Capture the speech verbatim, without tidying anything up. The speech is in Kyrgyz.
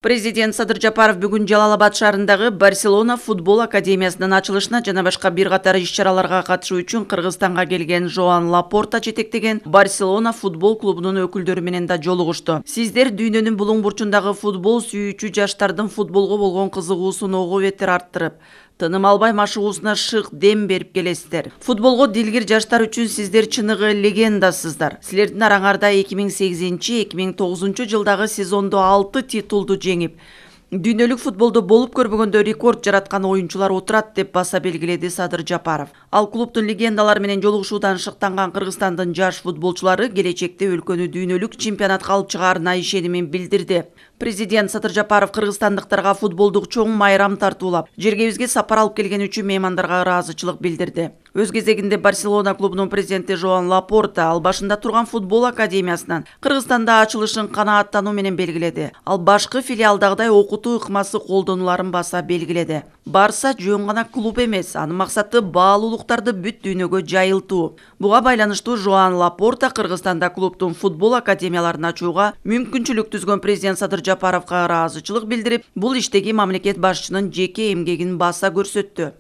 Президент Садыр Жапаров бүгүн Жалал-Абад шаарындагы Барселона футбол академиясынын ачылышына жана башка бир катар иш-чараларга катышуу үчүн Кыргызстанга келген Жоан Лапорта жетектеген Барселона футбол клубунун өкүлдөрү менен да жолугушту. Сиздер дүйнөнүн булуң бурчундагы футбол сүйүүчү жаштардын футболго болгон кызыгуусун ого бетер арттырып, тыным албай машыгуусуна шык дем берип келесиздер. Футболго дилгир жаштар үчүн сиздер чыныгы легендасыздар. Силердин араңарда эки миң сегизинчи эки миң тогузунчу жылдагы сезондо алты титулду жеңип, дүйнөлүк футболдо болуп көрбөгөндө рекорд жараткан оюнчулар отурат деп баса белгиледи Садыр Жапаров. Ал клубдун легендалары менен жолугушуудан шыктанган Кыргызстандын жаш футболчулары келечекте өлкөнү дүйнөлүк чемпионатка алып чыгаарына ишенимин билдирди. Президент Садыр Жапаров кыргызстандыктарга футболдук чоң майрам тартуулап, жергебизге сапар алып келген үчүн меймандарга ыраазычылык билдирди. Өз кезегинде Барселона клубунун президенти Жоан Лапорта ал башында турган футбол академиясынан Кыргызстанда ачылышын канааттануу менен белгиледи. Ал башкы филиалдагыдай окутуу ыкмасы колдонуларын баса белгиледи. Барса жөн гана клуб эмес, анын максаты баалуулуктарды бүт дүйнөгө жайылтуу. Буга байланыштуу Жоан Лапорта Кыргызстанда клубдун футбол академияларын ачууга мүмкүнчүлүк түзгөн президент Садыр Жапаровго ыраазычылык билдирип, бул иштеги мамлекет башчынын жеке эмгегин баса көрсөттү.